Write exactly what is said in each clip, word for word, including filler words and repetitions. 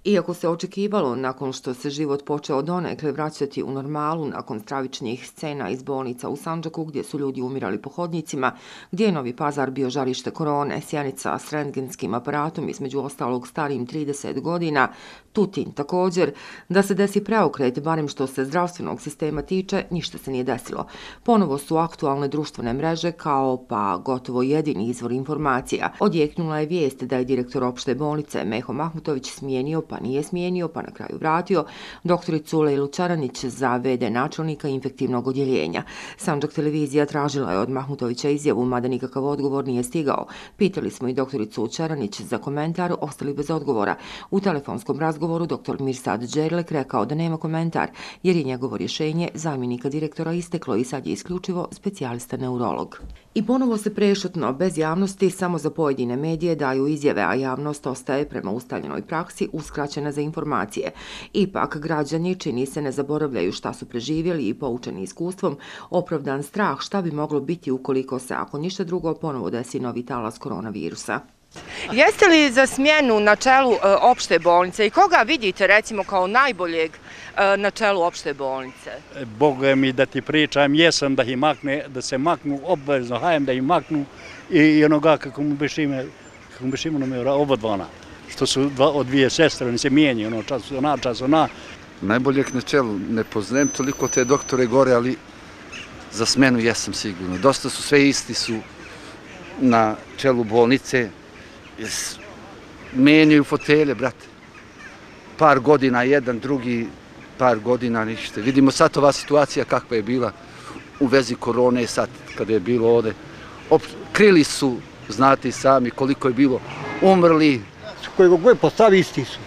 Iako se očekivalo nakon što se život počeo donekle vraćati u normalu nakon stravičnih scena iz bolnica u Sandžaku gdje su ljudi umirali po hodnicima, gdje je Novi Pazar bio žarište korone, Sjenica s rentgenskim aparatom između ostalog starijim trideset godina, Tutin također, da se desi preokret, barem što se zdravstvenog sistema tiče, ništa se nije desilo. Ponovo su aktualne društvene mreže kao pa gotovo jedini izvor informacija. Odjeknula je vijest da je direktor opšte bolnice Meho Mahmutović smijenio pa nije smijenio pa na kraju vratio doktoricu Lejlu Čaranić za ve de načelnika infektivnog odjeljenja. Sandžak televizija tražila je od Mahmutovića izjavu, mada nikakav odgovor nije stigao. Pitali smo i doktoricu Čaranić za komentar, ostali bez odgovora. U telefonskom razgovoru doktor Mirsad Đerlek rekao da nema komentar, jer je njegovo rješenje zamjenika direktora isteklo i sad je isključivo specijalista neurolog. I ponovo se prešutno, bez javnosti, samo za pojedine medije daju izjave, a javnost ostaje prema ustaljenoj praksi uskraćena za informacije. Ipak, građani čini se ne zaboravljaju šta su preživjeli i poučeni iskustvom, opravdan strah šta bi moglo biti ukoliko se, ako ništa drugo, ponovo desi novi talas koronavirusa. Jeste li za smjenu na čelu opšte bolnice i koga vidite recimo kao najboljeg na čelu opšte bolnice? Boga mi da ti pričam, jesam da ih makne, da se maknu, obvezno hajem da ih maknu i onoga kako mu biš ime, kako mu biš ime oba dvana, što su od dvije sestre, oni se mijenjaju, ono čas ona, čas ona. Najboljeg na čelu, ne poznajem toliko te doktore gore, ali za smjenu jesam sigurno. Dosta su, sve isti su na čelu bolnice, menjaju fotelje, brate. Par godina jedan, drugi par godina ništa. Vidimo sad ova situacija kakva je bila u vezi korone sad kada je bilo ovde. Krili su, znate i sami koliko je bilo umrli. Kojeg god postavi isti su.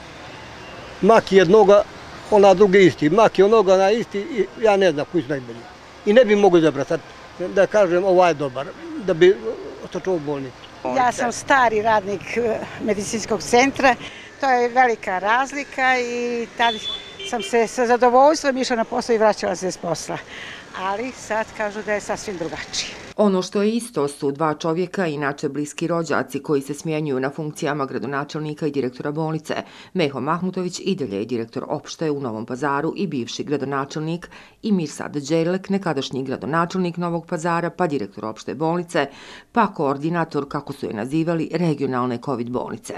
Mak jednoga, ona druga isti. Mak je onoga na isti, ja ne znam koji su najbolji. I ne bi mogu zabrati da kažem ovaj je dobar, da bi otočao bolnicu. Ja sam stari radnik medicinskog centra, to je velika razlika i tad sam se sa zadovoljstvom išla na posao i vraćala se s posla. Ali sad kažu da je sasvim drugačije. Ono što je isto su dva čovjeka, inače bliski rođaci koji se smjenjuju na funkcijama gradonačelnika i direktora bolnice. Meho Mahmutović i dalje je direktor opšte u Novom Pazaru i bivši gradonačelnik, i Mirsad Đerlek, nekadašnji gradonačelnik Novog Pazara, pa direktor opšte bolnice, pa koordinator, kako su je nazivali, regionalne COVID bolnice.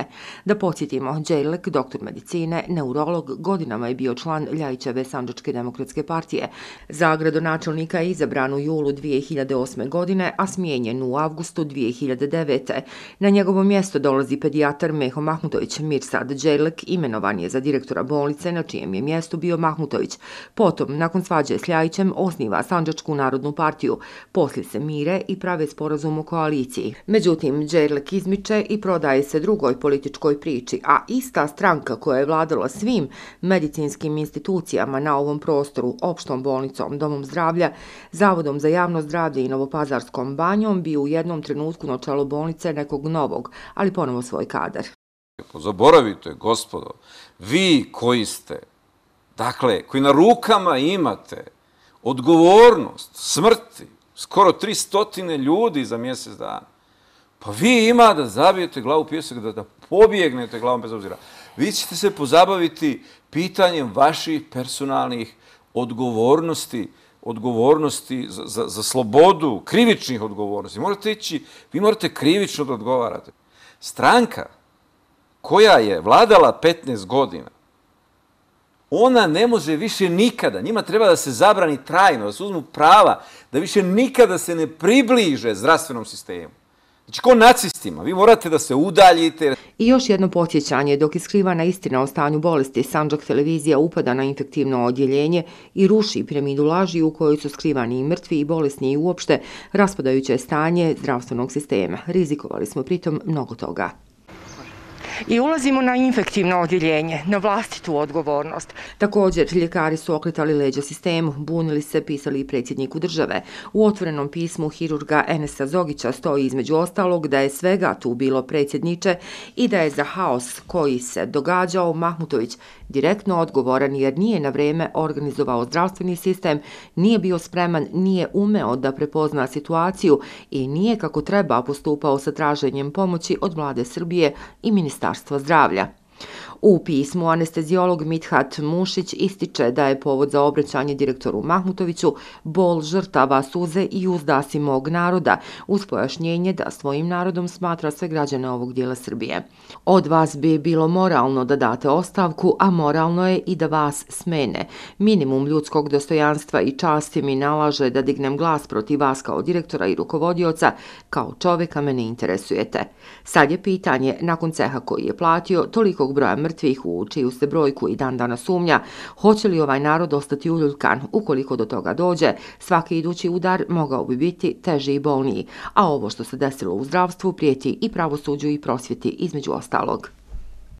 Da podsjetimo, Đerlek, doktor medicine, neurolog, godinama je bio član Ljajićeve Sandžačke demokratske partije. Za gradonačelnika je izabran u julu dvije hiljade osme godine, a smijenjen u avgustu dvije hiljade devete. Na njegovo mjesto dolazi pedijatar Meho Mahmutović. Mirsad Đerlek imenovan je za direktora bolnice, na čijem je mjestu bio Mahmutović. Potom, nakon svađe s Ljajićem, osniva Sandžačku narodnu partiju. Poslije se mire i prave sporazum o koaliciji. Međutim, Đerlek izmiče i prodaje se drugoj političkoj priči, a ista stranka koja je vladala svim medicinskim institucijama na ovom prostoru, opštom bolnicom, domom zdravlja, Zavodom za javno zdravlje i Novopazarskom banjom, bi u jednom trenutku na čelu bolnice nekog novog, ali ponovo svoj kadar. Zaboravite, gospodo, vi koji ste, dakle, koji na rukama imate odgovornost smrti skoro tristotine ljudi za mjesec dana, pa vi ima da zabijete glavu u pijesak, da, da pobjegnete glavom bez obzira. Vi ćete se pozabaviti pitanjem vaših personalnih odgovornosti, odgovornosti za, za, za slobodu, krivičnih odgovornosti. Morate ići, vi morate krivično da odgovarate. Stranka koja je vladala petnaest godina, ona ne može više nikada, njima treba da se zabrani trajno, da se uzmu prava, da više nikada se ne približe zdravstvenom sistemu. Znači, ko nacistima, vi morate da se udaljite. I još jedno podsjećanje, dok je skrivana istina o stanju bolesti, Sandžak televizija upada na infektivno odjeljenje i ruši piramidu laži u kojoj su skrivani i mrtvi i bolesni i uopšte raspadajuće stanje zdravstvenog sistema. Rizikovali smo pritom mnogo toga. I ulazimo na infektivno odjeljenje, na vlastitu odgovornost. Također, ljekari su okretali leđa sistemu, bunili se, pisali i predsjedniku države. U otvorenom pismu hirurga Enesa Zogića stoji između ostalog da je svega tu bilo predsjedniče i da je za haos koji se događao Mahmutović direktno odgovoran jer nije na vrijeme organizovao zdravstveni sistem, nije bio spreman, nije umeo da prepozna situaciju i nije kako treba postupao sa traženjem pomoći od vlade Srbije i Ministarstva zdravlja. U pismu anesteziolog Mithat Mušić ističe da je povod za obraćanje direktoru Mahmutoviću bol žrtava, suze i uzdasi mog naroda, uz pojašnjenje da svojim narodom smatra sve građane ovog dijela Srbije. Od vas bi bilo moralno da date ostavku, a moralno je i da vas smene. Minimum ljudskog dostojanstva i časti mi nalaže da dignem glas protiv vas kao direktora i rukovodioca, kao čoveka me ne interesujete. Sad je pitanje, nakon ceha koji je platio, tolikog broja mrtvih u čiju se brojku i dan dana sumnja, hoće li ovaj narod ostati uljuljkan? Ukoliko do toga dođe, svaki idući udar mogao bi biti teži i bolniji, a ovo što se desilo u zdravstvu prijeti i pravosuđu i prosvjeti između ostalog.